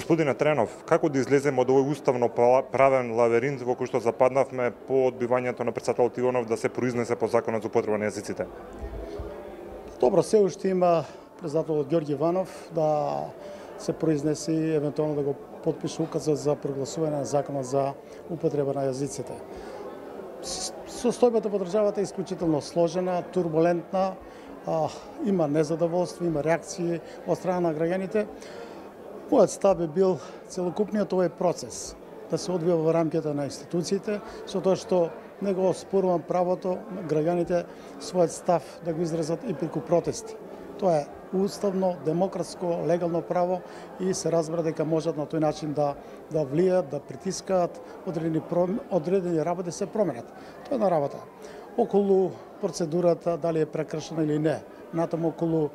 Господине Тренов, како да излеземе од овој уставно правен лавиринт во кој што западнавме по одбивањето на председателот Иванов да се произнесе по законот за употреба на јазиците? Добро, се уште има председателот Ѓорѓи Иванов да се произнесе и евентуално да го потпише указот за прогласување на законот за употреба на јазиците. Состојбата во државата е исклучително сложена, турбулентна, има незадоволство, има реакции од страна на граѓаните. Мојот став би бил целокупниот овој процес да се одвива во рамките на институциите, со тоа што не го оспорувам правото на граѓаните својот став да го изразат и преку протести. Тоа е уставно, демократско, легално право и се разбира дека можат на тој начин да влијат, да притискаат одредени работи се променат. Тоа е на работа. Околу процедурата дали е прекршена или не, натаму околу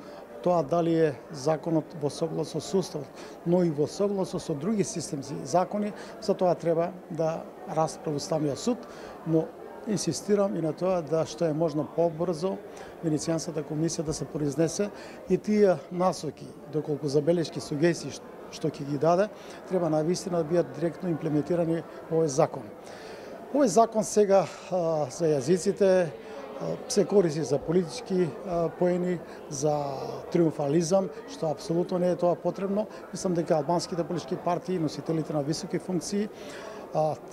тоа дали е законот во согласност со уставот, но и во согласност со други системски закони, за тоа треба да расправи Уставниот суд, но инсистирам и на тоа да што е можно побрзо Венецијанската комисија да се произнесе и тие насоки, доколку забелешки, сугестии што ќе ги даде, треба навистина да бидат директно имплементирани во овој закон. Овој закон сега за јазиците се користи за политички поени, за триумфализам, што апсолутно не е тоа потребно. Мислам дека албанските политички партии, носителите на високи функции,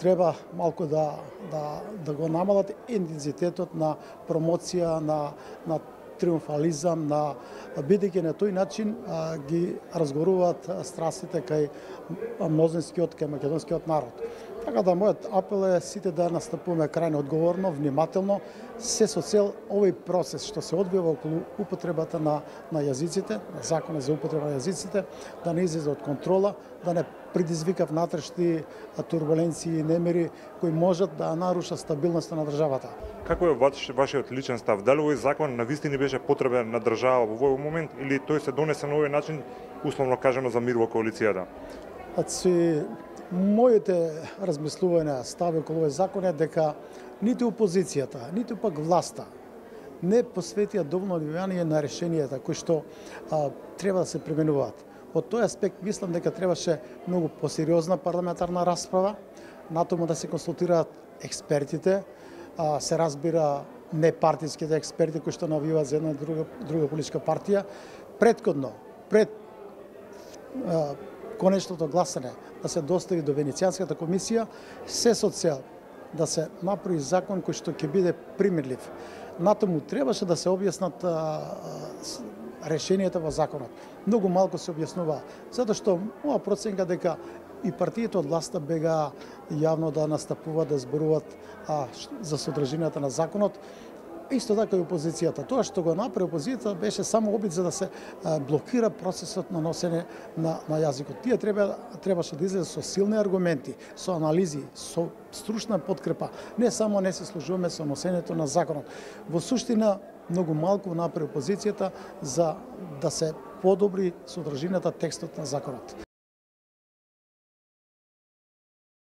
треба малку да го намалат интензитетот на промоција, на триумфализам, бидејќи на тој начин ги разгоруваат страстите кај мнозинскиот, кај македонскиот народ. Така да мојот апел е сите да настапуваме крајно одговорно, внимателно, се со цел овој процес што се одвива околу употребата на јазиците, на законот за употреба на јазиците, да не излезе од контрола, да не предизвика внатрешни турбуленции и немири кои можат да нарушат стабилноста на државата. Како е вашиот личен став? Дали овој закон навистина беше потребен на држава во овој момент или тој се донесе на овој начин, условно кажано, за мир во коалицијата? Моите размислувања, стави околу овој закон е дека ниту опозицијата, ниту пак власта не посветија доволно внимание на решенијата кои што треба да се применуваат. Од тој аспект мислам дека требаше многу посериозна парламентарна расправа, натаму да се консултираат експертите, се разбира непартиските експерти кои што навиваат за една друга политичка партија, предходно, пред конечното гласање да се достави до Венецијанската комисија, се со цел да се направи закон кој што ќе биде примирлив. Натаму требаше да се објаснат решенијата во законот. Многу малку се објаснува, затоа што моја проценка дека и партиите од власта бега јавно да настапуваат, да зборуваат за содржината на законот, исто така и опозицијата. Тоа што го направи опозицијата беше само обид за да се блокира процесот на носење на јазикот. Тие требаше да излезе со силни аргументи, со анализи, со стручна подкрепа. Не само не се служуваме со носењето на законот. Во суштина многу малку направи опозицијата за да се подобри содржината текстот на законот.